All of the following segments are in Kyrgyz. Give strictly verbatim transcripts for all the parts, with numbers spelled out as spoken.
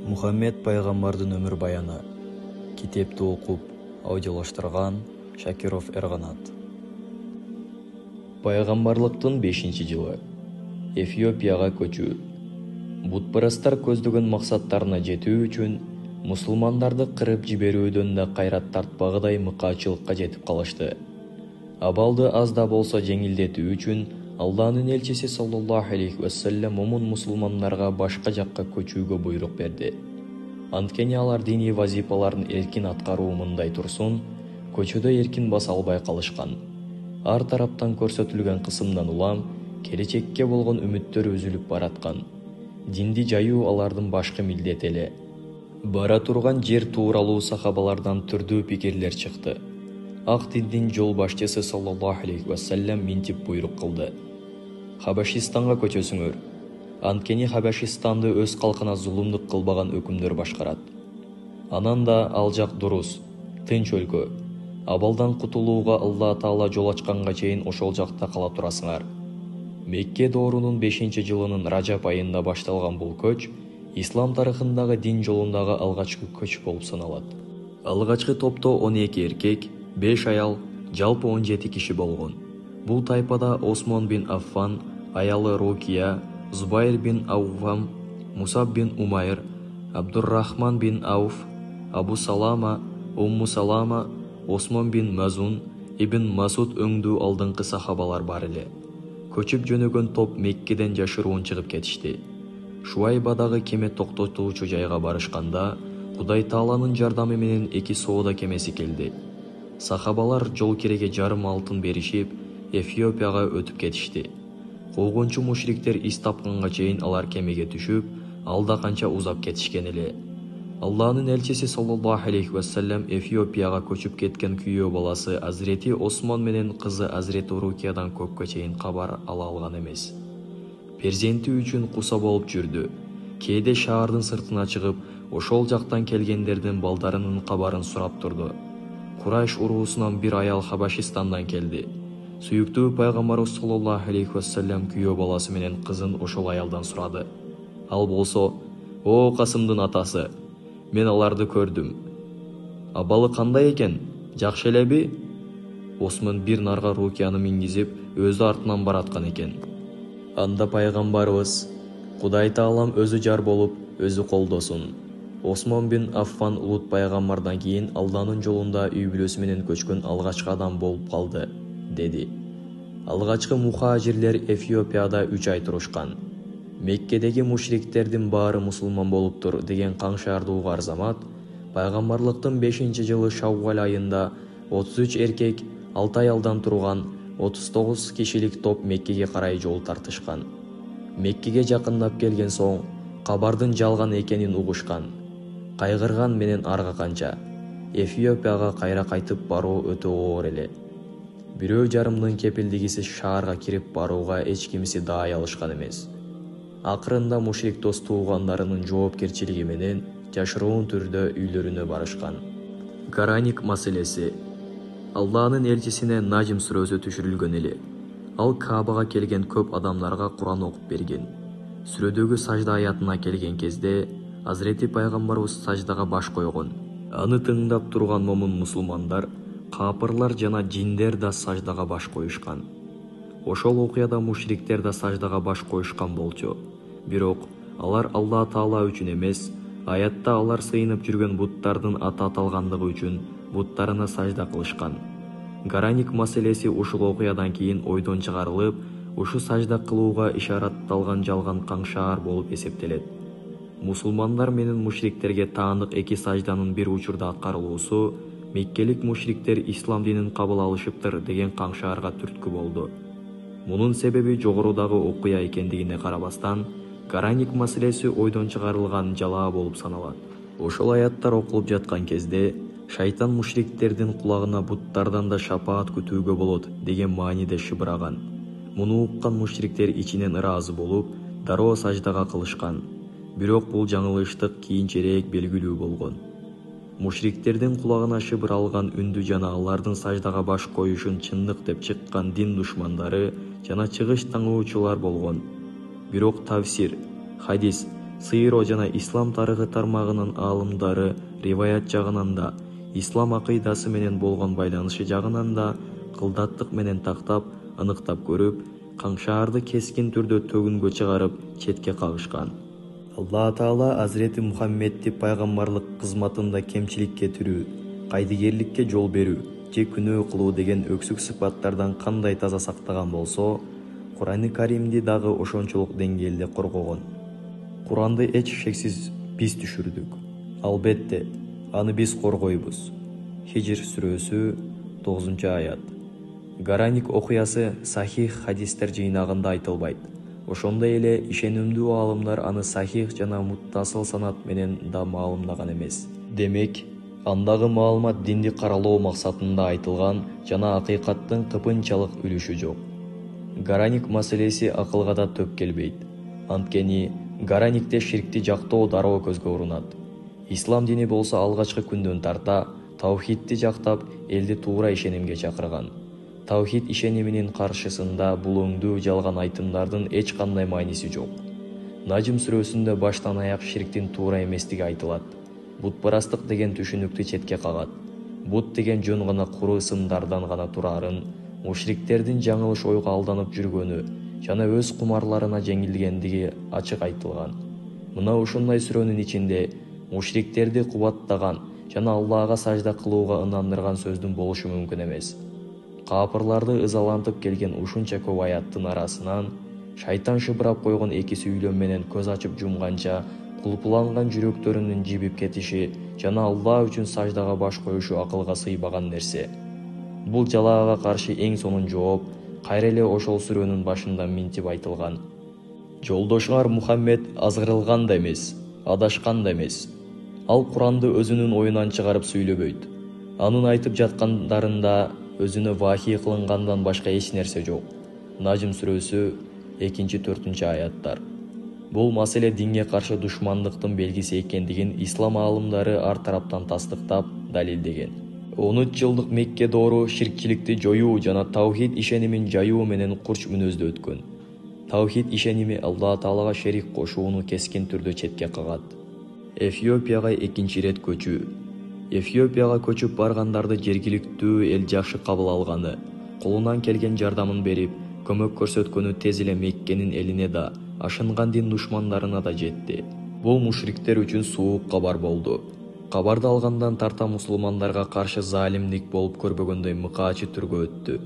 Мухаммед пайгамбардын өмүр баяны. Китепти окуп, аудиолоштурган Шакиров Эрганат. Пайгамбарлыктын бешинчи жылы. Эфиопияга көчүү. Бутпарастар көздөгөн максаттарына жетүү үчүн мусулмандарды кырып жиберүүдөн да кайрат тартпагыдай мыкаачылыкка жетип калышты. Абалды аз да болсо жеңилдетүү үчүн Алланын элчиси саллаллаху алейхи вассалам момун мусулмандарга башка жакка көчүүгө буйрук берди. Анткени алар диний вазифаларын эркин аткаруу мындай турсун, көчөдө эркин баса албай калышкан. Ар тараптан көрсөтүлгөн кысымдан улам келечекке болгон үмүттөрү үзүлүп бараткан. Динди жайуу алардын башкы милдети эле. Бара турган жер тууралуу сахабалардан түрдүү пикирлер чыкты. Ак диндин жол башчысы саллаллаху алейхи вассалам минтип буйрук кылды. Хабашистанга көчөсүңөр. Анткени Хабашистанды өз калкына зулумдук кылбаган өкүмдөр башкарат. Анан да ал жак дурус, тынч өлкө. Абалдан кутулууга Алла Таала жол ачканга чейин ошол жакта кала турасыңар. Мекке доорунун бешинчи жылынын Ражап айында башталган бул көч ислам тарыхындагы дин жолундагы алгачкы көч болуп саналат. Алгачкы топто он эки эркек, беш аял, жалпы он жети киши болгон. Бул тайпада Осмон бин Аффан, аялы Рукия, Зубайр бин Ауфам, Мусаб бин Умайр, Абдуррахман бин Ауф, Абу Салама, Умму Салама, Осмон бин Мазун, Ибн Масуд өңдүү алдыңкы сахабалар бар эле. Көчүп жөнөгөн топ Меккеден жашыруун чыгып кетишти. Шуайбадагы кеме токтотуучу жайга барышканда, Кудай Тааланын жардамы менен эки соода кемеси келди. Сахабалар жол кереге жарым алтын беришип, Эфиопияга өтүп кетишти. Куугунчу мушриктер ис тапканга чейин алар кемеге түшүп, алда канча узап кетишкен эле. Алланын элчиси саллаллаху алейхи вассалам Эфиопияга көчүп кеткен күйөө баласы Азрети Осмон менен кызы Азрети Рукиядан көпкө чейин кабар ала алган эмес. Перзенти үчүн куса болуп жүрдү. Кээде шаардын сыртына чыгып, ошол жактан келгендердин балдарынын кабарын сурап турду. Курайш уруусунан бир аял Хабашистандан келди. Сүйүктүү пайгамбарыбыз саллаллаху алейхи вассалам күйөө баласы менен кызын ошол аялдан сурады. Ал болсо: "О Касымдын атасы, мен аларды көрдүм. Абалы кандай экен? Жакшы элеби?" Осмон бир нарга Рукияны мингизип, өзү артынан бараткан экен. Анда пайгамбарыбыз: "Кудай Таалам өзү жар болуп, өзү колдосун. Осмон бин Аффан улут пайгамбардан кийин Алланын жолунда үй бүлөсү менен көчкөн алгачкы адам болуп калды", деди. Алгачкы мухажирлер Эфиопияда үч ай турушкан. Меккедеги мушриктердин баары мусулман болуптур деген каңшаарды угар замат, пайгамбарлыктын бешинчи жылы Шаввал айында отуз үч эркек, алты аялдан турган отуз тогуз кишилик топ Меккеге карай жол тартышкан. Меккеге жакындап келген соң кабардын жалган экенин угушкан. Кайгырган менен арга канча. Эфиопияга кайра кайтып баруу өтө оор эле. Бирөө жарымдын кепилдигисиз шаарга кирип барууга эч кимси даай алышкан эмес. Акырында мушрик дос туугандарынын жоопкерчилиги менен жашыруун түрдө үйлөрүнө барышкан. Гараник маселеси. Алланын элчисине Нажм сүрөсү түшүрүлгөн эле. Ал Каабага келген көп адамдарга Куран окуп берген. Сүрөдөгү сажда аятына келген кезде Азрети пайгамбарыбыз саждага баш койгон. Аны тыңдап турган момун мусулмандар, капырлар жана жиндер да саждага баш коюшкан. Ошол окуяда мушриктер да саждага баш коюшкан болчу. Бирок алар Алла Таала үчүн эмес, аятта алар сыйынып жүргөн буттардын аты аталгандыгы үчүн буттарына сажда кылышкан. Гараник маселеси ушул окуядан кийин ойдон чыгарылып, ушу сажда кылууга ишаратталган жалган каңшаар болуп эсептелет. Мусулмандар менен мушриктерге таандык эки сажданын бир учурда аткарылуусу меккелик мушриктер ислам динин кабыл алышыптыр деген каңшаарга түрткү болду. Мунун себеби жогорудагы окуя экендигине карабастан, гараник маселеси ойдон чыгарылган жалаа болуп саналат. Ошол аяттар окулуп жаткан кезде шайтан мушриктердин кулагына буттардан да шапаат күтүүгө болот деген мааниде шыбыраган. Муну уккан мушриктер ичинен ыраазы болуп, дароо саждага кылышкан. Бирок бул жаңылыштык кийинчерээк белгилүү болгон. Мушриктердин кулагына шыбыр алган үндү жана алардын саждага баш коюшун чындык деп чыккан дин душмандары жана чыгыш таңуучулар болгон. Бирок тавсир, хадис Сыйро жана ислам тарыхы тармагынын аалымдары риваят жагынан да, ислам акыйдасы менен болгон байланышы жагынан да кылдаттык менен тактап, аныктап көрүп, Каңшаарды кескин түрдө төгүнгө чыгарып, четке кагышкан. Алла Таала Азирети Мухаммедти пайгамбарлык кызматында кемчилик кетирүү, кайдыгерликке жол берүү же күнөө кылуу деген өксүк сыпаттардан кандай таза сактаган болсо, Курани Каримди дагы ошончолук деңгээлде коргогон. Куранды эч шексиз биз түшүрдүк. Албетте, аны биз коргойбуз. Хижр сүрөсү тогузунчу аят. Гараник окуясы сахих хадистер жыйнагында айтылбайт. Ошондой эле ишенимдүү аалымдар аны сахих жана муттасыл санат менен да маалымдаган эмес. Демек, андагы маалымат динди каралоо максатында айтылган жана акыйкаттын кыпынчалык үлүшү жок. Гараник маселеси акылга да төп келбейт. Анткени гараникте ширкти жактоо дароо көзгө урунат. Ислам дини болсо алгачкы күндөн тарта таухидти жактап, элди туура ишенимге чакырган. Таухид ишениминин каршысында бул өңдүү жалган айтымдардын эч кандай мааниси жок. Najm сүрөсүндө баштан аяк ширктин туура эместиги айтылат. Бутпарастык деген түшүнүктү четке кагат. Бут деген жөн гана куру сымдардан гана турарын, мушриктердин жаңылыш ойго алданып жүргөнү жана өз кумарларына жеңилгендиги ачык айтылган. Мына ушундай сүрөнүн ичинде мушриктерди кубаттаган жана Аллага сажда кылууга ынандырган сөздүн болушу мүмкүн эмес. Капырларды ызалантып келген ушунча көп аяттын арасынан шайтан шыбырап койгон эки сүйлөм менен көз ачып жумганча кулпуланган жүрөктөрүнүн жибип кетиши жана Алла үчүн саждага баш коюшу акылга сыйбаган нерсе. Бул жалаага каршы эң сонун жооп кайра эле ошол сүрөнүн башында минтип айтылган. Жолдошуңар Мухаммед азгырылган да эмес, адашкан да эмес. Ал Куранды өзүнүн оюнан чыгарып сүйлөбөйт. Анын айтып жаткандарында өзүнө вахий кылынгандан башка эч нерсе жок. Najm сүрөсү экинчи төртүнчү аяттар. Бул маселе динге каршы душмандыктын белгиси экендигин ислам аалымдары ар тараптан тастыктап, далилдеген. он үч жылдык Мекке доору ширкчиликти жоюу жана таухид ишенимин жаюу менен курч мүнөздө өткөн. Таухид ишеними Алла Таалага шерик кошууну кескин түрдө четке кагат. Эфиопияга экинчи ирет көчүү. Эфиопияга көчүп баргандарды жергиликтүү эл жакшы кабыл алганы, колунан келген жардамын берип, көмөк көрсөткөнү тез эле Меккенин элине да, ашынган дин душмандарына да жетти. Бул мушриктер үчүн суук кабар болду. Кабарды алгандан тарта мусулмандарга каршы залимдик болуп көрбөгөндөй мыкаачы түргө өттү.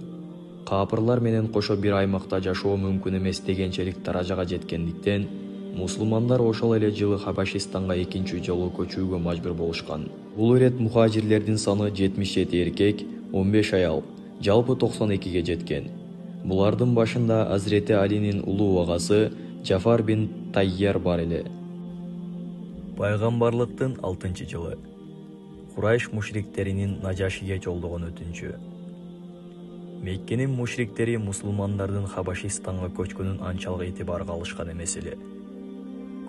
Капырлар менен кошо бир аймакта жашоо мүмкүн эмес дегенчелик даражага жеткендиктен, мусулмандар ошол эле жылы Хабашистанга экинчи жолу көчүүгө мажбур болушкан. Бул ирет мухажирлердин саны жетимиш жети эркек, он беш аял, жалпы токсон экиге жеткен. Булардын башында Азирети Алинин улуу агасы Джафар бин Тайяр бар эле. Пайгамбарлыктын алтынчы жылы. Курайш мушриктеринин Нажашиге жолдогон өтүнчү. Меккенин мушриктери мусулмандардын Хабашистанга көчкөнүн анчалык этибарга алышкан эмес эле.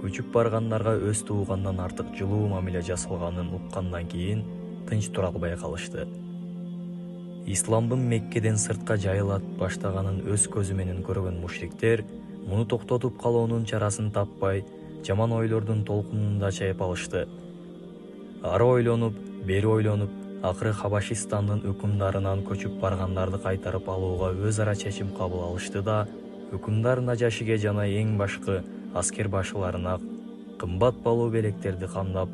Көчүп баргандарга өз туугандан артык жылуу мамиле жасалганын уккандан кийин тынч тура албай калышты. Исламдын Меккеден сыртка жайыла баштаганын өз көзү менен көргөн мушриктер муну токтотуп калуунун чарасын таппай, жаман ойлордун толкунунда чайып алышты. Ары ойлонуп, бери ойлонуп, акыры Хабашистандын өкүмдарынан көчүп баргандарды кайтарып алууга өз ара чечим кабыл алышты да, өкүмдар Нажашиге жана эң башкы аскер башыларына кымбат балуу белектерди камдап,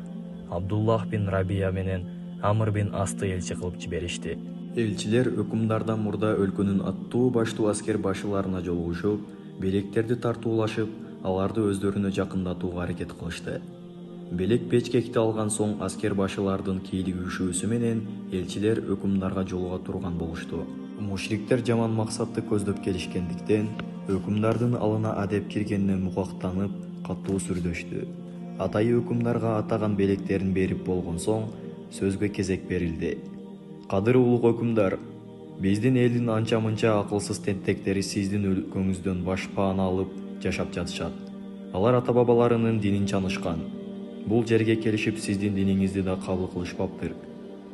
Абдуллах бин Рабия менен Амр бин Асты элчи кылып жиберишти. Элчилер өкүмдардан мурда өлкөнүн аттуу баштуу аскер башыларына жолугушуп, белектерди тартуулашып, аларды өздөрүнө жакындатууга аракет кылышты. Белек печкекти алган соң аскер башылардын кийлигишүүсү менен элчилер өкүмдарга жолуга турган болушту. Мушриктер жаман максатты көздөп келишкендиктен, өкүмдардын алына адеп киргенне мукактанып, катуу сүрдөштү. Атайы өкүмдарга атаган белектерин берип болгон соң, сөзгө кезек берилди. Кадыр улук өкүмдар, биздин элдин анча-мынча акылсыз тентектери сиздин өлкөңүздөн башпаана алып жашап жатышат. Алар ата-бабаларынын динин чанышкан. Бул жерге келишип сиздин диниңизди да кабыл кылышпаптыр.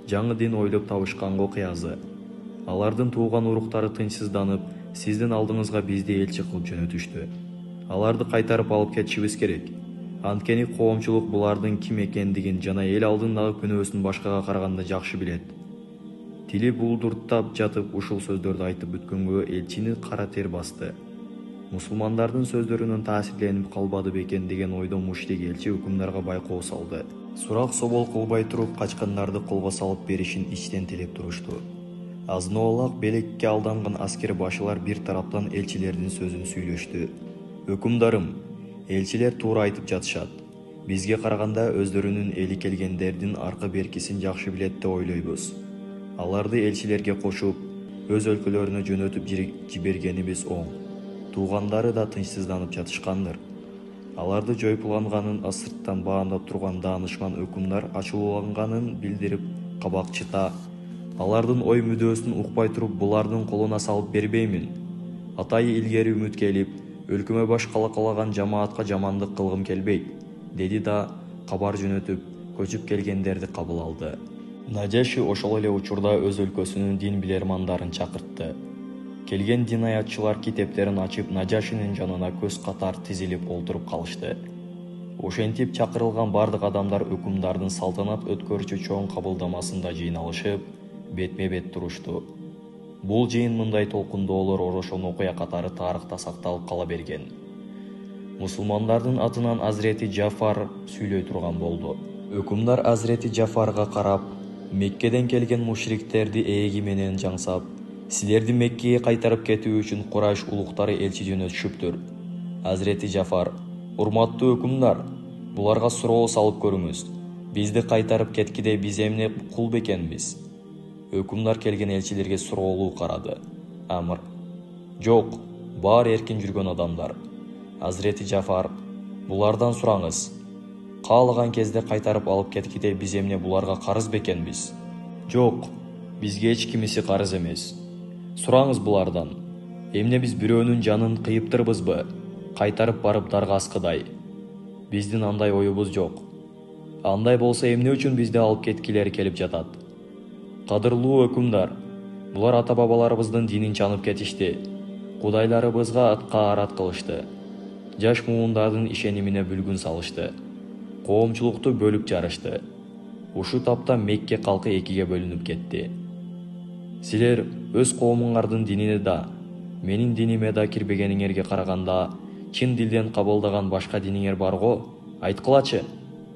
Жаңы дин ойлоп табышканга окуязы. Алардын тууган уруктары тынчсызданып, сиздин алдыңызга бизди элчи кылып жөнөтүштү. Аларды кайтарып алып кетишибиз керек. Анткени коомчулук булардын ким экендигин жана эл алдындагы күнөөсүн башкага караганда жакшы билет. Тили булдуртап жатып ушул сөздөрдү айтып бүткөнгө элчини кара тер басты. Мусулмандардын сөздөрүнөн таасирленип калбады бекен деген ойдо мушрик элчи өкүмдарга байкоо салды. Сурак собол кылбай туруп качкандарды колго салып беришин ичтен тилеп турушту. Азынобалак белекке алданган аскер башылар бир тараптан элчилердин сөзүн сүйлөштү. Өкүмдарым, элчилер туура айтып жатышат. Бизге караганда өздөрүнүн эли келгендердин аркы беркисин жакшы билет деп ойлойбуз. Аларды элчилерге кошуп, өз өлкөлөрүнө жөнөтүп жибергенибиз оң. Туугандары да тынчсызданып жатышкандыр. Аларды жойпулганганын сырттан баамдап турган даанышман өкүмдар ачууланганын билдирип, кабак чыта. Алардын ой мүдөөсүн укпай туруп, булардын колуна салып бербеймин. Атайы илгери үмүт келип, өлкөмө баш калакалаган жамаатка жамандык кылгым келбейт, деди да кабар жөнөтүп, көчүп келгендерди кабыл алды. Нажаши ошол эле учурда өз өлкөсүнүн дин билермандарын чакыртты. Келген дин аятчылар китептерин ачып, Нажашинин жанына көз катар тизилип олтуруп калышты. Ошентип чакырылган бардык адамдар өкүмдардын салтанат өткөрүүчү чоң кабылдамасында жыйналышып, бетме-бет турушту. Бул жыйын мындай толкундоолор орошон окуя катары тарыхта сакталып кала берген. Мусулмандардын атынан Азирети Жафар сүйлөй турган болду. Өкүмдар Азирети Жафарга карап, Меккеден келген мушриктерди ээги менен жаңсап, силерди Меккеге кайтарып кетүү үчүн Курайш улуктары элчи жөнөтүшүптүр. Азирети Жафар: урматтуу өкүмдар, буларга суроо салып көрүңүз. Бизди кайтарып кеткиде биз эмне кул бекенбиз? Өкүмдар келген элчилерге суроолуу карады. Амр: жок, баары эркин жүргөн адамдар. Азирети Жафар: булардан сураңыз. Каалаган кезде кайтарып алып кеткиде биз эмне буларга карыз бекенбиз? Жок, бизге эч кимиси карыз эмес. Сураңыз булардан. Эмне биз бирөөнүн жанын кыйыптырбызбы? Кайтарып барып дарга аскыдай. Биздин андай оюбуз жок. Андай болсо эмне үчүн бизди алып кеткилери келип жатат? Кадырлуу өкүмдар, булар ата-бабаларыбыздын динин чанып кетишти. Кудайларыбызга атка арат кылышты. Жаш муундардын ишенимине бүлгүн салышты. Коомчулукту бөлүп жарышты. Ушу тапта Мекке калкы экиге бөлүнүп кетти. Силер өз коомуңардын динине да, менин диниме да кирбегениңерге караганда, чын дилден кабылдаган башка диниңер бар го? Айткылачы,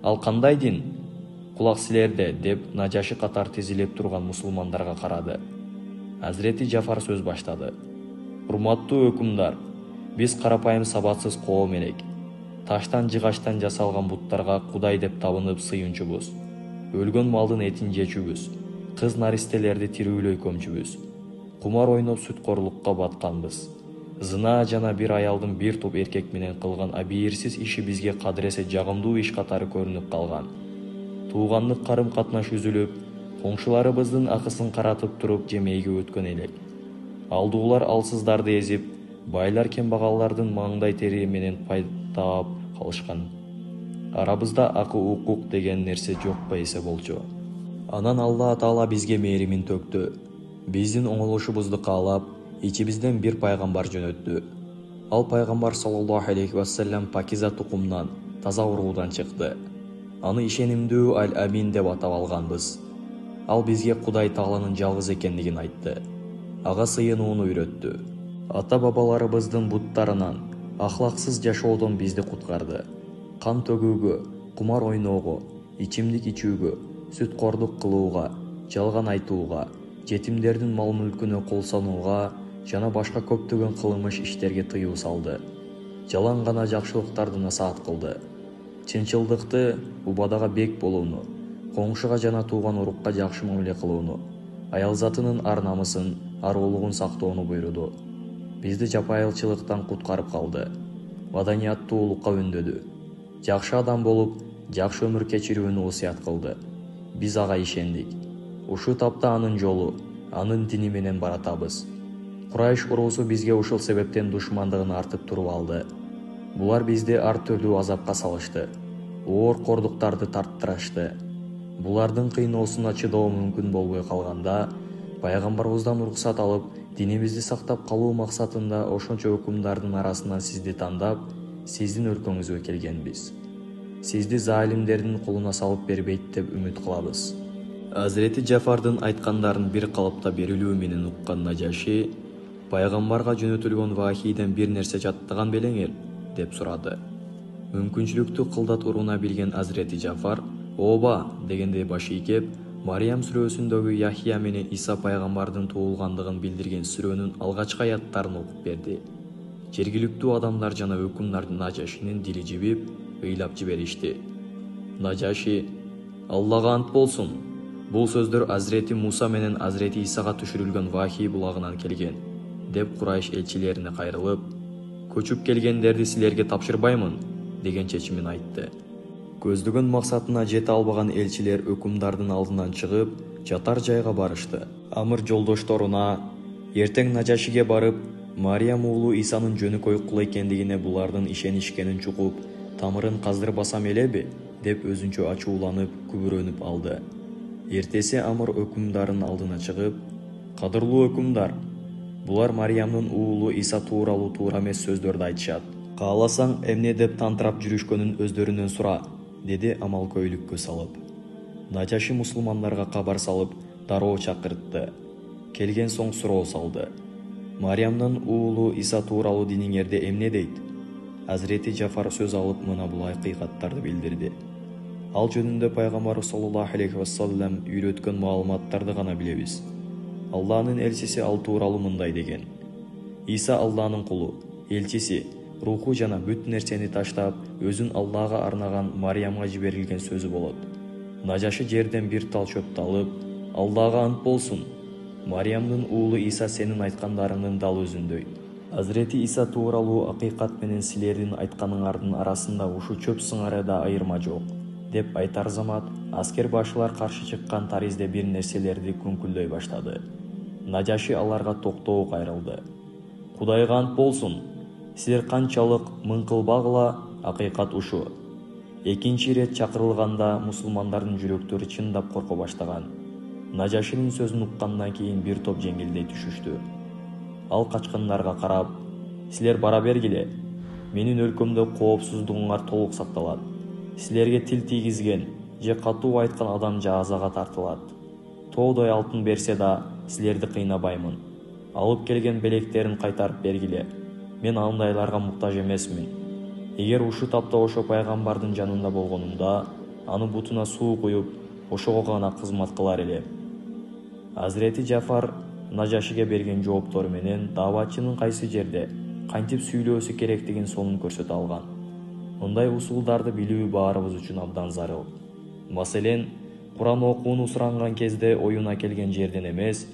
ал кандай дин? Кулак силерде, деп Нажаши катар тизилип турган мусулмандарга карады. Азирети Жафар сөз баштады. Урматтуу өкүмдар, биз карапайым сабатсыз коом элек. Таштан жыгачтан жасалган буттарга Кудай деп табынып сыйынчубуз. Өлгөн малдын этин жечүбүз. Кыз наристелерди тирүүлөй көмчүбүз. Кумар ойноп сүткорлукка батканбыз. Зына жана бир аялдын бир топ эркек менен кылган абийирсиз иши бизге кадыресе жагымдуу иш катары көрүнүп калган. Туугандык карым-катнаш үзүлүп, коңшуларыбыздын акысын каратып туруп жемейге өткөн элек. Алдуулар алсыздарды эзип, байлар кембагаллардын маңдай тери менен пайдап калышкан. Арабызда акы укук деген нерсе жок эсе болчу. Анан Алла Таала бизге мээримин төктү. Биздин оңолушубузду каалап, ичибизден бир пайгамбар жөнөттү. Ал пайгамбар саллаллаху алейхи вассалам пакиза тукумдан, таза уруудан чыкты. Аны ишенимдүү Аль-Амин деп атап алганбыз. Ал бизге Кудай Тааланын жалгыз экендигин айтты. Ага сыйынууну үйрөттү. Ата-бабаларыбыздын буттарынан, ахлаксыз жашоодон бизди куткарды. Кан төгүүгө, кумар ойноого, ичимдик ичүүгө, сүткордук кылууга, жалган айтууга, жетимдердин мал-мүлкүнө кол санууга жана башка көптөгөн кылмыш иштерге тыюу салды. Жалаң гана жакшылыктарды насаат кылды. Чынчылдыкты, убадага бек болууну, коңшуга жана тууган урукка жакшы мамиле кылууну, аял затынын ар-намысын, аруулугун сактоону буйруду. Бизди жапайылчылыктан куткарып калды. Маданияттуулукка үндөдү. Жакшы адам болуп, жакшы өмүр кечирүүнү осуят кылды. Биз ага ишендик. Ушу тапта анын жолу, анын дини менен баратабыз. Курайш уруусу бизге ушул себептен душмандыгын артып туруп алды. Булар бизди ар түрдүү азапка салышты. Оор кордуктарды тарттырышты. Булардын кыйноосуна чыдоо мүмкүн болбой калганда, пайгамбарыбыздан уруксат алып, динибизди сактап калуу максатында ошончо өкүмдардын арасынан сизди тандап, сиздин өлкөңүзгө келгенбиз. сизди залимдердин колуна салып бербейт деп үмүт кылабыз. Азирети Жафардын айткандарын бир калыпта берилүү менен уккан Нажаши пайгамбарга жөнөтүлгөн вахийден бир нерсе жаттаган белеңер деп сурады. Мүмкүнчүлүктү кылдат уруна билген Азирети Жафар ооба дегендей баш ийкеп, Мариям сүрөсүндөгү Яхья менен Иса пайгамбардын туулгандыгын билдирген сүрөнүн алгачкы аяттарын окуп берди. Жергиликтүү адамдар жана өкүмдар Нажашинин дили жибип, ыйлап жиберишти. Нажаши: «Аллага ант болсун. Бул сөздөр Азирети Муса менен Азирети Исага түшүрүлгөн вахий булагынан келген», деп Курайш элчилерине кайрылып, «Көчүп келгендерди силерге тапшырбаймын» деген чечимин айтты. Көздөгөн максатына жете албаган элчилер өкүмдардын алдынан чыгып, жатар жайга барышты. Амыр жолдошторуна: «Эртең Нажашиге барып, Мариям уулу Исанын жөнөкөй кул экендигине булардын ишенишкенин чукуп, тамырын каздырбасам элеби?» деп өзүнчө ачууланып, күбүрөнүп алды. Эртеси Амыр өкүмдардын алдына чыгып: «Кадырлуу өкүмдар, булар Мариямдын уулу Иса тууралуу туура эмес сөздөрдү айтышат. Кааласаң эмне деп тантырап жүрүшкөнүн өздөрүнөн сура», деди амалкөйлүккө салып. Нажаши мусулмандарга кабар салып, дароо чакыртты. Келген соң суроо салды: «Мариямдын уулу Иса тууралуу диниңерде эмне дейт?» Азирети Жафар сөз алып мына бул акыйкаттарды билдирди. Ал жөнүндө пайгамбар саллаллаху алейхи вассалам үйрөткөн маалыматтарды гана билебиз. Алланын элчиси ал тууралуу мындай деген: «Иса Алланын кулу, элчиси, руху жана бүт нерсени таштап, өзүн Аллага арнаган Мариямга жиберилген сөзү болот». Нажаши жерден бир тал чөптү алып: «Аллага ант болсун. Мариямдын уулу Иса сенин айткандарыңдын дал өзүндөй. Азирети Иса тууралуу акыйкат менен силердин айтканыңардын арасында ушу чөп сыңары да айырма жок», деп айтар замат аскер башылар каршы чыккан таризде бир нерселерди күңкүлдөй баштады. Нажаши аларга токтоо кайрылды. «Кудайга ант болсун. Силер канчалык мыңкылбагыла, акыйкат ушу». Экинчи ирет чакырылганда мусулмандардын жүрөктөрү чындап корко баштаган. Нажашинин сөзүн уккандан кийин бир топ жеңилдей түшүштү. Ал качкындарга карап: «Силер бара бергиле. Менин өлкөмдө коопсуздугуңар толук сакталат. Силерге тил тийгизген же катуу айткан адам жазага тартылат. Тоодой алтын берсе да, силерди кыйнабаймын. Алып келген белектерин кайтарып бергиле. Мен андайларга муктаж эмесмин. Эгер ушу тапта ошо пайгамбардын жанында болгонумда, аны бутуна суу куюп, ошого гана кызмат кылар элем». Азирети Жафар Нажашиге берген жооптору менен дааватчынын кайсы жерде, кантип сүйлөөсү керектигин сонун көрсөтө алган. Мындай усулдарды билүү баарыбыз үчүн абдан зарыл. Маселен, Куран окууну суранган кезде оюна келген жерден эмес,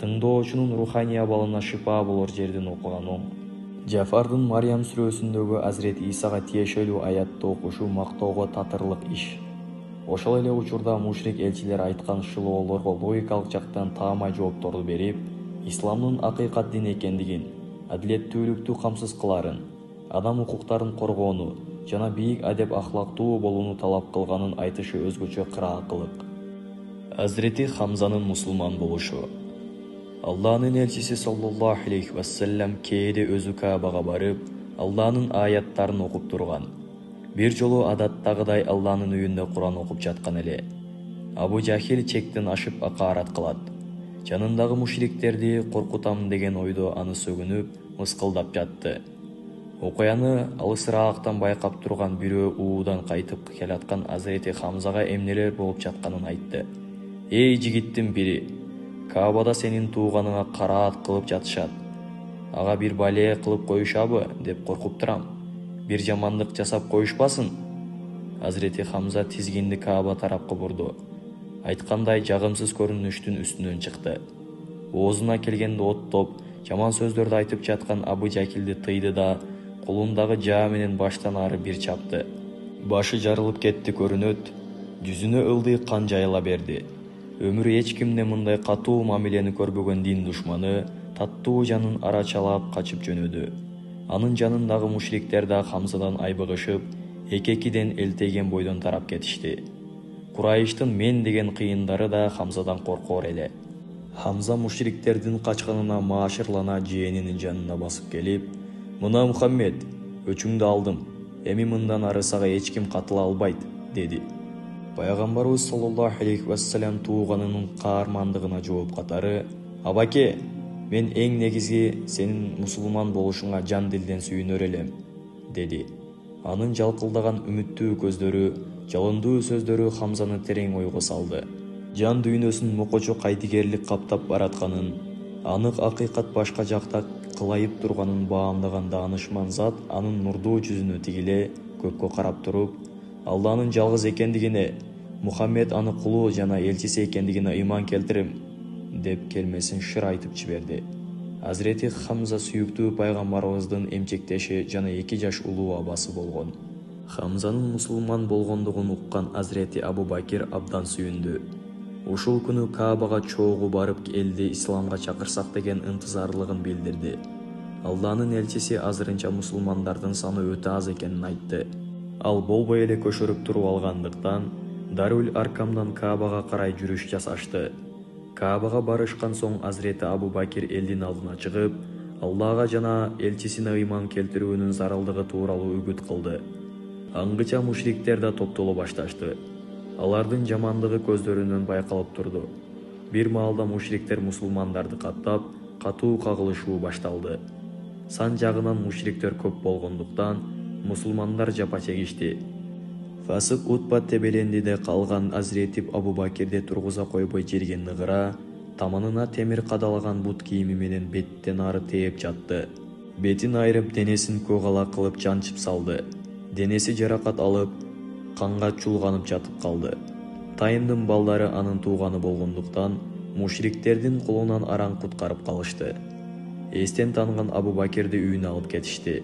тыңдоочунун руханий абалына шипа болор жерден окуган оң. Жафардын Мариям сүрөсүндөгү Азирети Исага тиешелүү аятты окушу мактоого татырлык иш. Ошол эле учурда мушрик элчилер айткан шылоолорго логикалык жактан таамай жоопторду берип, исламдын акыйкат дин экендигин, адилеттүүлүктү камсыз кыларын, адам укуктарын коргоону жана бийик адеп ахлактуу болууну талап кылганын айтышы өзгөчө кыраакылык. Азирети Хамзанын мусулман болушу. Алланын элчиси саллаллаху алейхи вассалам кээде өзү Каабага барып, Алланын аяттарын окуп турган. Бир жолу адаттагыдай Алланын үйүндө Куран окуп жаткан эле. Абу Жахил чектен ашып акаарат кылат. Жанындагы мушриктерди коркутам деген ойдо аны сөгүнүп, мыскылдап жатты. Окуяны алысыраактан байкап турган бирөө уудан кайтып келаткан Азирети Хамзага эмнелер болуп жатканын айтты. «Эй жигиттин бири, Каабада сенин тууганыңа караат кылып жатышат. Ага бир бале кылып коюшабы деп коркуп турам. Бир жамандык жасап коюшпасын?» Азирети Хамза тизгинди Кааба тарапка бурду. Айткандай жагымсыз көрүнүштүн үстүнөн чыкты. Оозуна келгенде оттоп, жаман сөздөрдү айтып жаткан Абу Жакилди тыйды да, колундагы жаа менен баштан ары бир чапты. Башы жарылып кетти көрүнөт, жүзүнө ылдый кан жайыла берди. Өмүрү эч кимден мындай катуу мамилени көрбөгөн дин душманы таттуу жанын арачалап качып жөнөдү. Анын жанындагы мушриктер да Хамзадан айбыгышып, эки-экиден элтейген бойдон тарап кетишти. Курайыштын мен деген кыйындары да Хамзадан коркор эле. Хамза мушриктердин качканына маашырлана жээнинин жанына басып келип: «Мына Мухаммед, өчүңдү алдым. эми мындан ары сага эч ким катыла албайт, деди. Пайгамбарыбыз саллаллаху алейхи вассалам тууганынын каармандыгына жооп катары: "Абаке, мен эң негизги сенин мусулман болушуңа жан дилден сүйүнөр элем", деди. Анын жалкылдаган үмүттүү көздөрү, жалындуу сөздөрү Хамзаны терең ойго салды. Жан дүйнөсүн мокочо кайдыгерлик каптап баратканын, анык акыйкат башка жакта кылайып турганын баамдаган даанышман зат анын нурдуу жүзүнө тигиле көккө карап туруп, Алланын жалгыз экендигине, Мухаммед аны кулу жана элчиси экендигине ыйман келтирим, деп келмесин шыр айтып жиберди. Азирети Хамза сүйүктүү пайгамбарыбыздын эмчектеши жана эки жаш улуу абасы болгон. Хамзанын мусулман болгондугун уккан Азирети Абу Бакир абдан сүйүндү. Ушул күнү Каабага чогуу барып элди исламга чакырсак деген ынтызарлыгын билдирди. Алланын элчиси азырынча мусулмандардын саны өтө аз экенин айтты. Ал болбой эле көшөрүп туруп алгандыктан Дарул Аркамдан Каабага карай жүрүш жасашты. Каабага барышкан соң Азирети Абу Бакир элдин алдына чыгып, Аллага жана элчисине ыйман келтирүүнүн зарылдыгы тууралуу үгүт кылды. Аңгыча мушриктер да топтоло башташты. Алардын жамандыгы көздөрүнөн байкалып турду. Бир маалда мушриктер мусулмандарды каттап, катуу кагылышуу башталды. Сан жагынан мушриктер көп болгондуктан мусулмандар жапа чегишти. Фасык Утба тебелендиде калган Азирети Абу Бакирди тургуза койбой жерге ныгыра, таманына темир кадалаган бут кийими менен беттен ары тээп жатты. Бетин айрып, денесин көгала кылып жанчып салды. Денеси жаракат алып, канга чулганып жатып калды. Тайымдын балдары анын тууганы болгондуктан мушриктердин колунан араң куткарып калышты. Эстен танган Абу Бакирди үйүнө алып кетишти.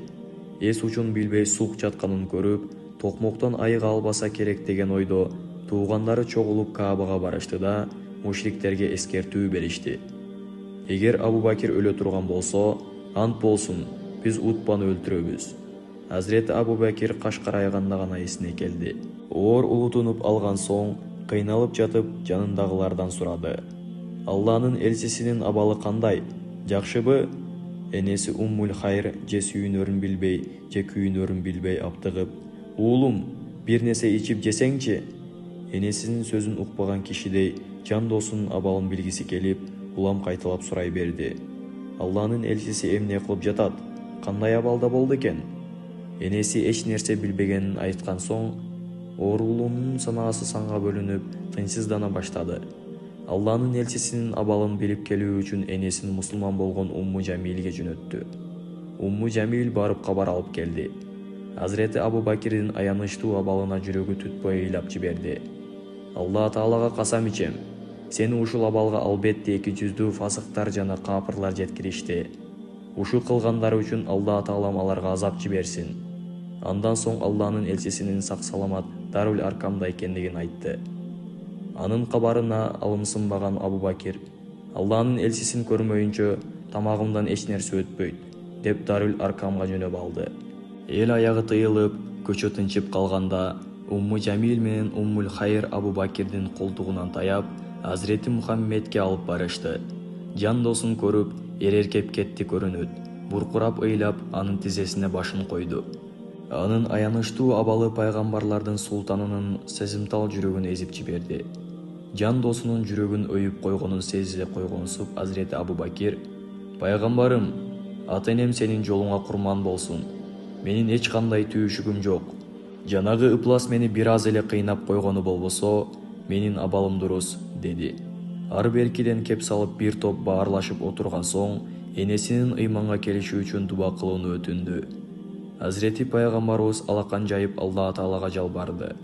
Эс учун билбей сук жатканын көрүп, токмоктон айыга албаса керек деген ойдо туугандары чогулуп Каабага барышты да мушриктерге эскертүү беришти. Эгер Абу Бакир өлө турган болсо, ант болсун, биз Утбаны өлтүрөбүз. Азирети Абу Бакир каш карайганда гана эсине келди. Оор улутунуп алган соң, кыйналып жатып жанындагылардан сурады: "Алланын элчисинин абалы кандай? Жакшыбы?" Энеси Уммул Хайр же сүйүнөрүн билбей, же күйүнөрүн билбей аптыгып: "Уулум, бир нерсе ичип жесеңчи?" Энесинин сөзүн укпаган кишидей жан досунун абалын билгиси келип, улам кайталап сурай берди: "Алланын элчиси эмне кылып жатат? Кандай абалда болду экен?" Энеси эч нерсе билбегенин айткан соң, оорулуунун санаасы санга бөлүнүп, тынчсыздана баштады. Алланын элчисинин абалын билип келүү үчүн энесин мусулман болгон Умму Жамилге жөнөттү. Умму Жамил барып кабар алып келди. Азирети Абу Бакирдин аянычтуу абалына жүрөгү түтпөй ыйлап жиберди: "Алла Таалага касам ичем, сени ушул абалга албетте эки жүздүү фасыктар жана капырлар жеткиришти. Ушу кылгандары үчүн Алла Таалам аларга азап жиберсин." Андан соң Алланын элчисинин сак-саламат Дарул Аркамда экендигин айтты. Анын кабарына алымсынбаган Абу Бакир: "Алланын элчисин көрмөйүнчө тамагымдан эч нерсе өтпөйт", деп Дарул Аркамга жөнөп алды. Эл аягы тыйылып, көчө тынчып калганда, Умму Жамил менен Уммул Хайр Абу Бакирдин колтугунан таяп, Азирети Мухаммедке алып барышты. Жан досун көрүп, эреркеп кетти көрүнөт. Буркурап ыйлап, анын тизесине башын койду. Анын аянычтуу абалы пайгамбарлардын султанынын сезимтал жүрөгүн эзип жиберди. Жан досунун жүрөгүн өйүп койгонун сезе койгонсуп, Азирети Абу Бакир: "Пайгамбарым, ата-энем сенин жолуңа курман болсун. Менин эч кандай түйүшүгүм жок. Жанагы ыплас мени бир аз эле кыйнап койгону болбосо, менин абалым дурус", деди. Ар беркиден кеп салып бир топ баарлашып отурган соң, энесинин ыйманга келиши үчүн дуба кылууну өтүндү. Азирети пайгамбарыбыз алакан жайып Алла Таалага жалбарды.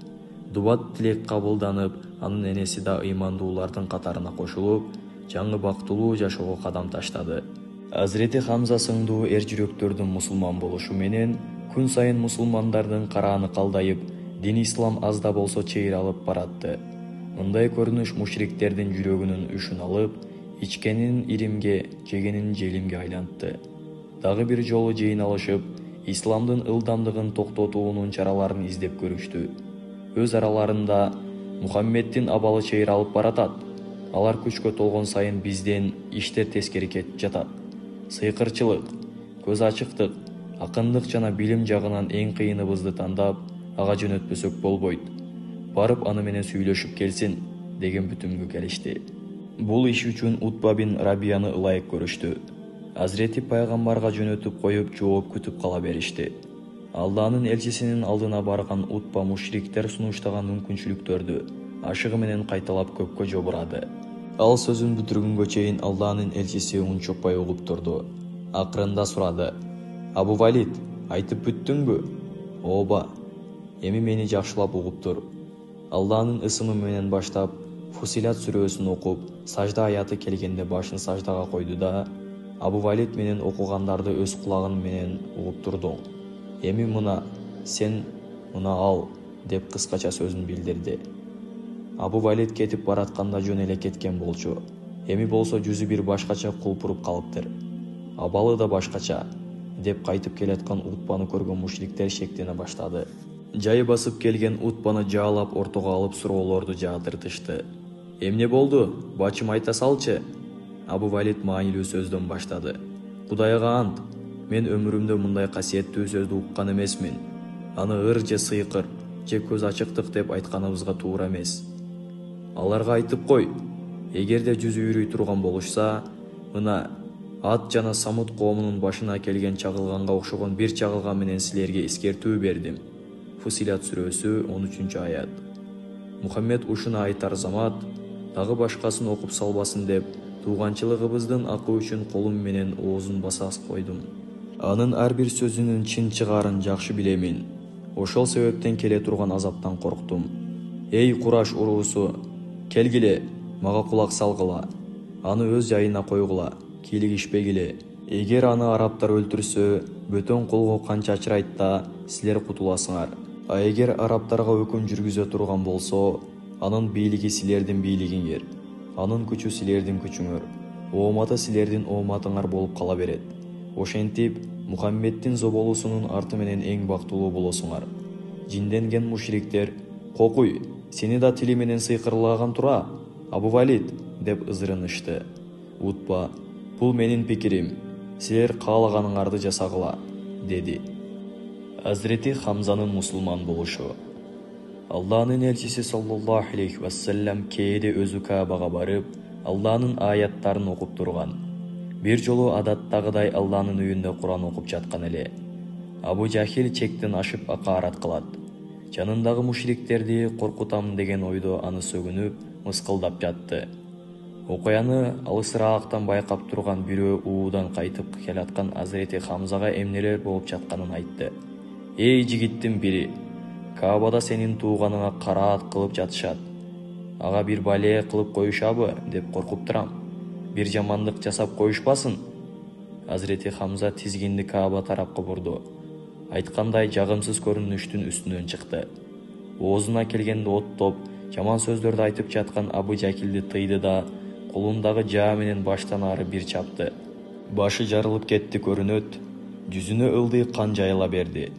Дубат тилек кабылданып, анын энеси да ыймандуулардын катарына кошулуп, жаңы бактылуу жашоого кадам таштады. Азирети Хамза сыңдуу эр жүрөктөрдүн мусулман болушу менен күн сайын мусулмандардын карааны калдайып, дин ислам аз да болсо чыйралып баратты. Мындай көрүнүш мушриктердин жүрөгүнүн үшүн алып, ичкенин иримге, жегенин желимге айлантты. Дагы бир жолу жыйналышып, исламдын ылдамдыгын токтотуунун чараларын издеп көрүштү. Өз араларында: "Мухаммеддин абалы чыйралып баратат. Алар күчкө толгон сайын бизден иштер тескери кетип жатат. Сыйкырчылык, көз ачыктык, Акындык жана билим жагынан эң кыйыныбызды тандап, ага жөнөтпөсөк болбойт. Барып аны менен сүйлөшүп келсин, деген бүтүмгө келишти. Бул иш үчүн Утба бин Рабияны ылайык көрүштү. Азирети пайгамбарга жөнөтүп коюп, жооп күтүп кала беришти. Алланын элчисинин алдына барган Утба мушриктер сунуштаган мүмкүнчүлүктөрдү ашыгы менен кайталап көккө жобурады. Ал сөзүн бүтүргөнгө чейин Алланын элчиси унчукпай угуп турду. Акырында сурады: Абу Валид, айтып бүттүңбү? Ооба. Эми мени жакшылап угуп тур. Алланын ысымы менен баштап, Фусилат сүрөсүн окуп, сажда аяты келгенде башын саждага койду да, Абу Валид менен окугандарды өз кулагың менен угуп турдуң. Эми мына, сен мына ал, деп кыскача сөзүн билдирди. Абу Валид кетип баратканда жөн эле кеткен болчу. Эми болсо жүзү бир башкача кулпуруп калыптыр. Абалы да башкача, деп кайтып келаткан Утбаны көргөн мушриктер шектене баштады. Жай басып келген Утбаны жаалап ортого алып суроолорду жаадыртышты. Эмне болду? Бачым айта салчы. Абу Валид маанилүү сөздөн баштады. Кудайга ант, мен өмүрүмдө мындай касиеттүү сөздү уккан эмесмин. Аны ыр же сыйкыр, же көз ачыктык деп айтканыбызга туура эмес. Аларга айтып кой, эгерде жүзү үйрөй турган болушса, мына Ат жана Самут коомунун башына келген чагылганга окшогон бир чагылган менен силерге эскертүү бердим. Фусилат сүрөсү он үчүнчү аят. Мухаммед ушуну айтар замат, дагы башкасын окуп салбасын деп, тууганчылыгыбыздын акы үчүн колум менен оозун баса койдум. Анын ар бир сөзүнүн чын чыгаарын жакшы билемин. Ошол себептен келе турган азаптан корктум. Эй Кураш уруусу, келгиле, мага кулак салгыла. Аны өз жайына койгула, кийлигишпегиле. Эгер аны арабтар өлтүрсө, бөтөн колго канча ачырайт да, силер кутуласыңар. А эгер арабтарга өкүм жүргүзө турган болсо, анын бийлиги силердин бийлигиңер, анын күчү силердин күчүңөр, ооматы силердин ооматыңар болуп кала берет. Ошентип, Мухаммеддин зоболусунун арты менен эң бактылуу болосуңар. Жинденген мушриктер: Кокуй, сени да тили менен сыйкырлаган тура, Абу Валид, деп ызырынышты. Утба: бул менин пикирим, силер каалаганыңарды жасагыла, деди. Азирети Хамзанын мусулман болушу. Алланын элчиси саллаллаху алейхи вассалам кээде өзү Каабага барып, Алланын аяттарын окуп турган. Бир жолу адаттагыдай Алланын үйүндө Куран окуп жаткан эле. Абу Жахил чектен ашып акаарат кылат. Жанындагы мушриктерди коркутам деген ойдо аны сөгүнүп, мыскылдап жатты. Окуяны алысыраактан байкап турган бирөө уудан кайтып келаткан Азирети Хамзага эмнелер болуп жатканын айтты. Эй жигиттин бири, Каабада сенин тууганыңа караат кылып жатышат. Ага бир бале кылып коюшабы деп коркуп турам. Бир жамандык жасап коюшпасын. Азирети Хамза тизгинди Кааба тарапка бурду. Айткандай жагымсыз көрүнүштүн үстүнөн чыкты. Оозуна келгенде оттоп, жаман сөздөрдү айтып жаткан Абу Жакилди тыйды да, колундагы жаа менен баштан ары бир чапты. Башы жарылып кетти көрүнөт, жүзүнө ылдый кан жайыла берди.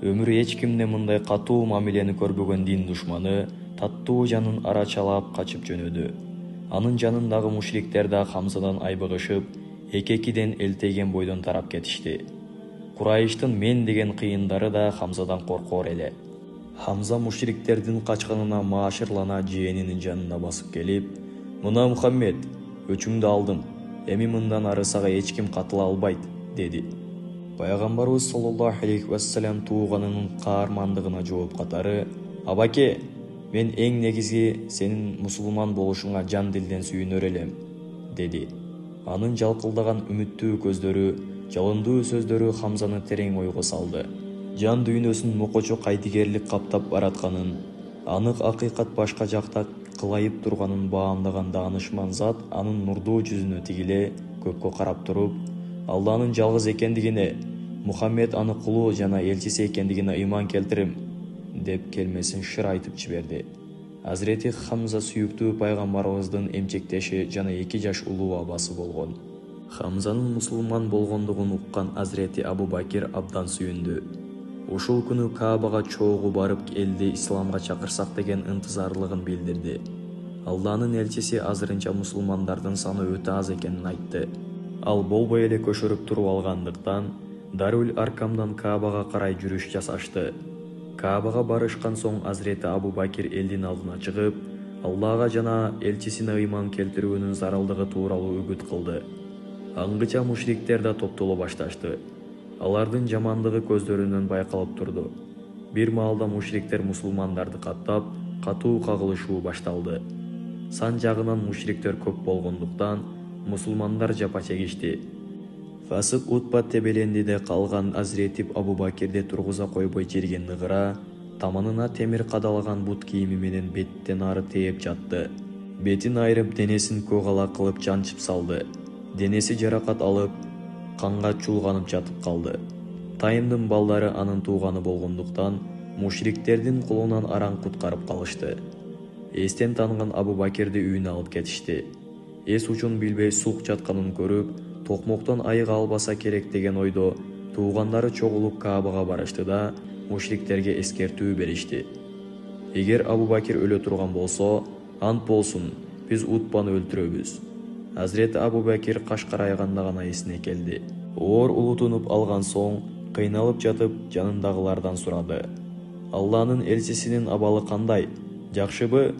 Өмүрү эч кимде мындай катуу мамилени көрбөгөн дин душманы таттуу жанын арачалап качып жөнөдү. Анын жанындагы мушриктер да Хамзадан айбыгышып, эки-экиден элтейген бойдон тарап кетишти. Курайыштын мен деген кыйындары да Хамзадан коркор эле. Хамза мушриктердин качканына маашырлана жээнинин жанына басып келип: "Мына Мухаммед, өчүңдү алдым. Эми мындан ары сага эч ким катыла албайт", деди. Пайгамбарыбыз саллаллаху алейхи вассалам тууганынын каармандыгына жооп катары: "Абаке, мен эң негизи сенин мусулман болушуңа жан дилден сүйүнөр элем", деди. Анын жалкылдаган үмүттүү көздөрү, жалындуу сөздөрү Хамзаны терең ойго салды. Жан дүйнөсүн мокочо кайдыгерлик каптап баратканын, анык акыйкат башка жакта кылайып турганын баамдаган даанышман зат анын нурдуу жүзүнө тигиле көккө карап туруп, Алланын жалгыз экендигине, Мухаммед аны кулу жана элчиси экендигине ыйман келтирим, деп келмесин шыр айтып жиберди. Азирети Хамза сүйүктүү пайгамбарыбыздын эмчектеши жана эки жаш улуу абасы болгон. Хамзанын мусулман болгондугун уккан Азирети Абу Бакир абдан сүйүндү. Ушул күнү Каабага чогуу барып элди исламга чакырсак деген ынтызарлыгын билдирди. Алланын элчиси азырынча мусулмандардын саны өтө аз экенин айтты. Ал болбой эле көшөрүп туруп алгандыктан, Даруль Аркамдан Каабага карай жүрүш жасашты. Каабага барышкан соң Азирети Абу Бакир элдин алдына чыгып, Аллага жана элчисине ыйман келтирүүнүн зарылдыгы тууралуу үгүт кылды. Аңгыча мушриктер да топтоло башташты. Алардын жамандыгы көздөрүнөн байкалып турду. Бир маалда мушриктер мусулмандарды каттап, катуу кагылышуу башталды. Сан жагынан мушриктер көп болгондуктан мусулмандар жапа чегишти. Фасык Утба тебелендиде калган Азирети Абу Бакирди тургуза койбой жерге ныгыра, таманына темир кадалаган бут кийими менен беттен ары тээп жатты. Бетин айрып, денесин көгала кылып жанчып салды. Денеси жаракат алып, канга чулганып жатып калды. Тайымдын балдары анын тууганы болгондуктан мушриктердин колунан араң куткарып калышты. Эстен танган Абу Бакирди үйүнө алып кетишти. Эс учун билбей сук жатканын көрүп, токмоктон айыга албаса керек деген ойдо туугандары чогулуп Каабага барышты да мушриктерге эскертүү беришти. Эгер Абу Бакир өлө турган болсо, ант болсун, биз Утбаны өлтүрөбүз. Азирети Абу Бакир каш карайганда гана эсине келди. Оор улутунуп алган соң, кыйналып жатып жанындагылардан сурады. Алланын элчисинин абалы кандай? Жакшыбы?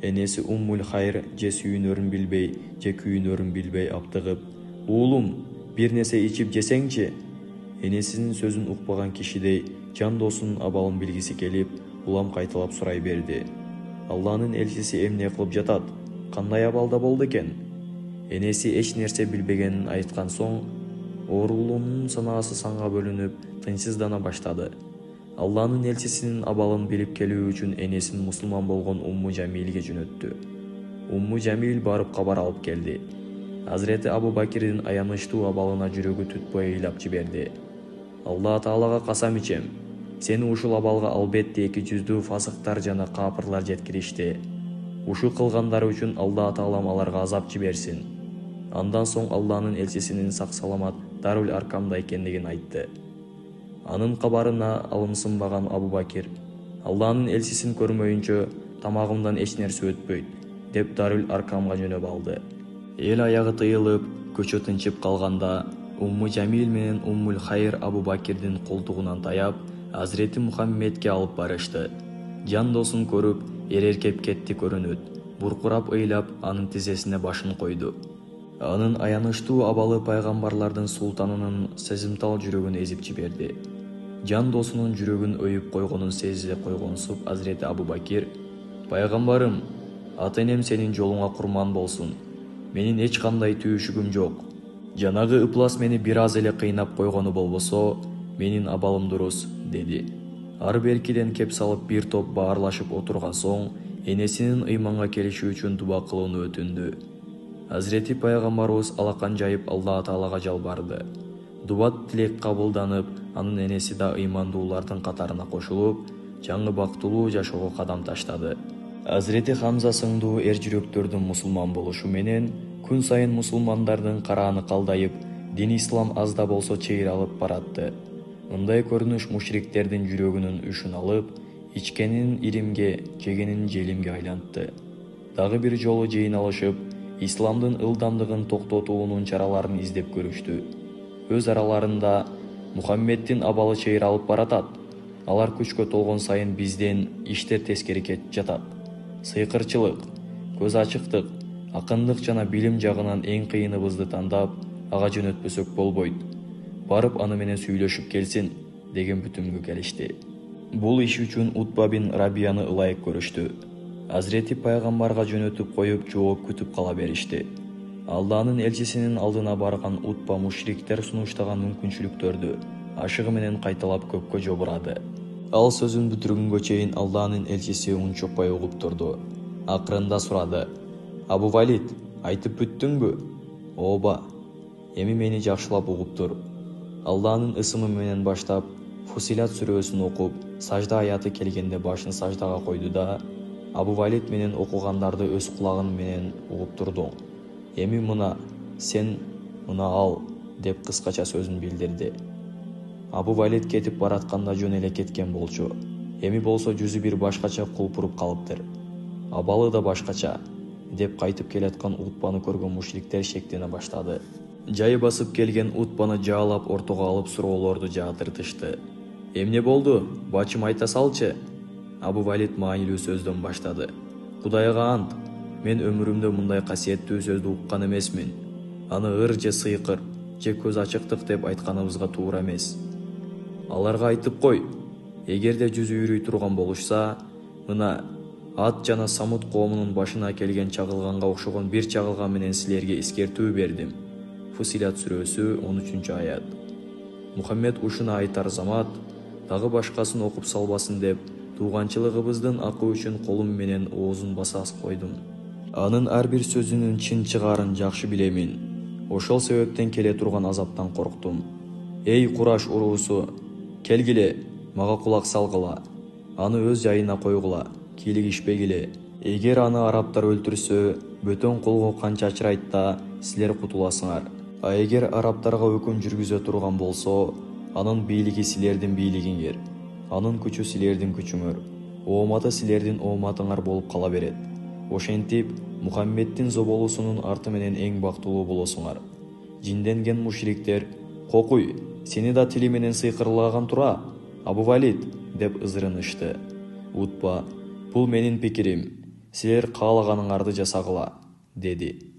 Энеси Уммул Хайр же сүйүнөрүн билбей, же күйүнөрүн билбей аптыгып, "Уулум, бир нерсе ичип жесеңчи?" Энесинин сөзүн укпаган кишидей жан досунун абалын билгиси келип, улам кайталап сурай берди. Алланын элчиси эмне кылып жатат? Кандай абалда болду экен? Энеси эч нерсе билбегенин айткан соң, оорулуунун санаасы санга бөлүнүп, тынчсыздана баштады. Алланын элчисинин абалын билип келүү үчүн энесин мусулман болгон Умму Жамилге жөнөттү. Умму Жамил барып кабар алып келди. Азирети Абу Бакирдин аянычтуу абалына жүрөгү түтпөй ыйлап жиберди. Алла Таалага касам ичем, сени ушул абалга албетте эки жүздүү фасыктар жана капырлар жеткиришти. Ушул кылгандары үчүн Алла Таалам аларга азап жиберсин. Андан соң Алланын элчисинин сак-саламат Даруль Аркамда экендигин айтты. Анын кабарына алымсынбаган Абу Бакир, Алланын элчисин көрмөйүнчө тамагымдан эч нерсе өтпөйт, деп Даруль Аркамга жөнөп алды. Эл аягы тыйылып, көчө тынчып калганда, Умму Жамил менен Уммул Хайр Абу Бакирдин колтугунан таяп, Азирети Мухаммедке алып барышты. Жан досын көрүп, эреркеп кетти көрүнөт. Буркурап ыйлап, анын тизесине башын койду. Анын аянычтуу абалы пайгамбарлардын султанынын сезимтал жүрөгүн эзип жиберди. Жан досунун жүрөгүн өйүп койгонун сезе койгонсуп Азирети Абу Бакир: "Пайгамбарым, ата-энем сенин жолуңа курман болсун. Менин эч кандай түйүшүгүм жок. Жанагы ыплас мени бир аз эле кыйнап койгону болбосо, менин абалым дурус", деди. Ар беркиден кеп салып бир топ баарлашып отурган соң, энесинин ыйманга келиши үчүн дуба кылууну өтүндү. Азирети пайгамбарыбыз алакан жайып Алла Таалага жалбарды. Дуба тилек кабылданып, анын энеси да ыймандуулардын катарына кошулуп, жаңы бактылуу жашоого кадам таштады. Азирети Хамза сыңдуу эр жүрөктөрдүн мусулман болушу менен күн сайын мусулмандардын карааны калдайып, дин ислам аз да болсо чыйралып баратты. Мындай көрүнүш мушриктердин жүрөгүнүн үшүн алып, ичкенин иримге, жегенин желимге айлантты. Дагы бир жолу жыйын алышып, исламдын ылдамдыгын токтотуунун чараларын издеп көрүштү. Өз араларында Мухаммеддин абалы чыйралып баратат. Алар күчкө толгон сайын бизден иштер тескери кетип жатат. Сыйкырчылык, көз ачыктык, акындык жана билим жагынан эң кыйыныбызды тандап, ага жөнөтпөсөк болбойт. Барып аны менен сүйлөшүп келсин, деген бүтүмгө келишти. Бул иш үчүн Утба бин Рабияны ылайык көрүштү. Азирети пайгамбарга жөнөтүп коюп жооп күтүп кала беришти. Алланын элчисинин алдына барган Утба мушриктер сунуштаган мүмкүнчүлүктөрдү ашыгы менен кайталап көккө жобурады. Ал сөзүн бүтүргөнгө чейин Алланын элчиси унчукпай угуп турду. Акырында сурады: "Абу Валид, айтып бүттүңбү?" "Ооба. Эми мени жакшылап угуп тур. Алланын ысымы менен баштап, Фусилат сүрөсүн окуп, сажда аяты келгенде башын саждага койду да, Абу Валид менен окугандарды өз кулагың менен угуп турдуң. Эми мына, сен мына ал", деп кыскача сөзүн билдирди. Абу Валид кетип баратканда жөн эле кеткен болчу. Эми болсо жүзү бир башкача кулпуруп калыптыр. Абалы да башкача, деп кайтып келаткан Утбаны көргөн мушриктер шектене баштады. Жай басып келген Утпаны жаалап ортого алып суроолорду жаатыртышты. Эмне болду? Бачым айта салчы. Абу Валид маанилүү сөздөн баштады. Кудайга ант, мен өмүрүмдө мындай касиеттүү сөздү уккан эмесмин. Аны ыр же сыйкыр же көз ачыктык деп айтканыбызга туура эмес. Аларга айтып кой, эгерде жүзү үйрөй турган болушса, мына Ат жана Самут коомунун башына келген чагылганга окшогон бир чагылган менен силерге эскертүү бердим. Фусилат сүрөсү он үчүнчү аят. Мухаммед ушуну айтар замат дагы башкасын окуп салбасын деп тууганчылыгыбыздын акы үчүн колум менен оозун баса койдум. Анын ар бир сөзүнүн чын чыгаарын жакшы билемин. Ошол себептен келе турган азаптан корктум. Эй Кураш уруусу, келгиле, мага кулак салгыла. Аны өз жайына койгула, кийлигишпегиле. Эгер аны арабтар өлтүрсө, бөтөн колго канча ачырайт да силер кутуласыңар. А эгер арабтарга өкүм жүргүзө турган болсо, анын бийлиги силердин бийлигиңер, анын күчү силердин күчүңөр, ооматы силердин ооматыңар болуп кала берет. Ошентип, Мухаммеддин зоболусунун арты менен эң бактылуу болосуңар. Жинденген мушриктер, кокуй, сени да тили менен сыйкырлаган тура, Абу Валид, деп ызырынышты. Утпа, бул менин пикирим, силер каалаганыңарды жасагыла, деди.